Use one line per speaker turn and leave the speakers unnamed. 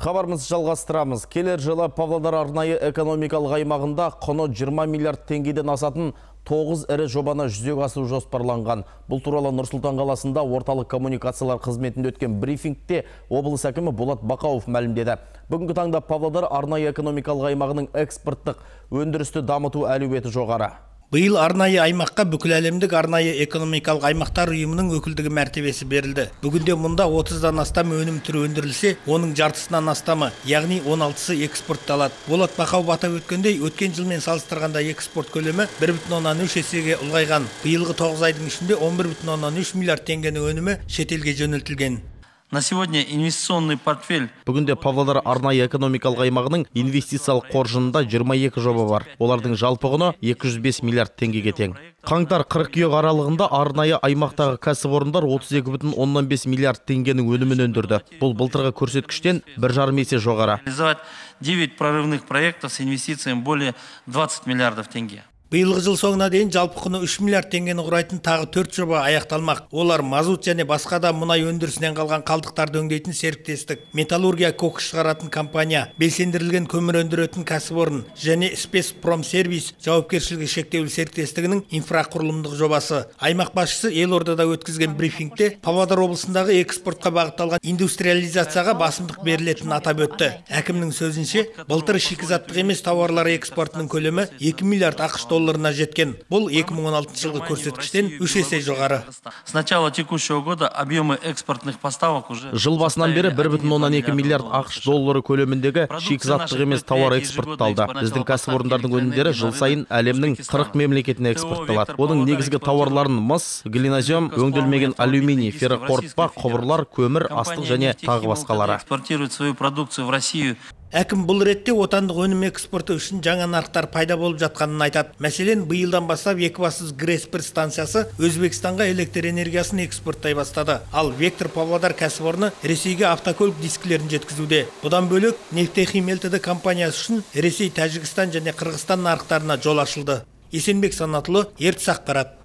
Хабарымызды жалғастырамыз. Келер жылы Павлодар арнайы экономикалық аймағында құны 20 миллиард теңгеден асатын 9 ірі жобаны жүзеге асыру жоспарланған. Бұл туралы Нұр-Сұлтан қаласында орталық коммуникациялар қызметінде өткен брифингте облыс әкімі Болат Бақауов мәлімдеді. Бүгінгі таңда Павлодар арнайы экономикалық аймағының экспорттық өндірісті дамыту әлеуеті жоғары.
Биыл арнайы аймаққа бүкіл әлемдік арнайы экономикалық аймақтар ұйымының өкілдігі мәртебесі берілді. Бүгінде мұнда 30-дан астам өнім түрі өндірілсе, оның жартысынан астамы, яғни 16-сы экспортталады. Болат Бақауов атап өткендей, өткен жылмен салыстырғанда экспорт көлемі 1,3 есеге ұлғайған. Биылғы 9 айдың ішінде 11,3 миллиард теңгенің өнімі шетелге жөнелтілген.
На сегодня инвестиционный портфель.
Бүгінде Павлодар арнайы экономикалық аймағының инвестициялық қоржынында 22 жоба бар. Олардың жалпы құны 205 миллиард теңгеге тең. Қаңтар-қыркүйек аралығында арнайы аймақтағы кәсіпорындар 32,5 миллиард теңгенің өнімін өндірді. Бұл былтырғы көрсеткіштен 1,5 есе жоғары.
9 прорывных проектов с инвестициями более 20 миллиардов тенге.
Биылғы жыл соңына дейін жалпы құны 3 миллиард теңгені құрайтын тағы 4 жоба аяқталмақ. Олар мазут және басқа да мұнай өндірісінен қалған қалдықтарды өңдейтін серіктестік, металлургия кокс шығаратын компания, белсендірілген көмір өндіретін кәсіпорын және Спецпромсервис жауапкершілігі шектеулі серіктестігінің инфрақұрылымдық жобасы. Аймақ басшысы елордада өткізген брифингте Павлодар облысындағы экспортқа бағытталған индустриализацияға басымдық берілетінін атап өтті. Әкімнің сөзінше, былтыр шикізаттық емес тауарлар экспортының көлемі 2 миллиард ақш долларына жеткен. Бұл 2016 жылғы көрсеткіштен 3 есе жоғары.
С начала текущего года объемы экспортных поставок уже...
Жыл басынан бері 1,2 миллиард ақш доллары көлеміндегі шикізаттық емес тауар экспортталды. Біздің кәсіпорындардың өнімдері жыл сайын әлемнің 40 мемлекетіне экспортталады. Оның негізгі тауарларын мыс, глинозем, өңделмеген алюминий, ферроқорытпа, құбырлар, көмір, астық және тағы басқалары.
Экспортирует свою продукцию в Россию.
Әкім бұл ретте отандық өнім экспорты үшін жаңа нарықтар пайда болып жатқанын айтады. Мәселен, биылдан бастап Екібастұз ГРЭС-1 станциясы Өзбекстанға электр энергиясын экспорттай бастады. Ал Вектор Павлодар кәсіпорны Ресейге автокөлік дискілерін жеткізуде. Бұдан бөлек, Нефтехим Лтд компаниясы үшін Ресей, Тәжікстан және Қырғызстан нарықтарына жол ашылды. Есенбек Санатұлы, Ертіс ақпарат.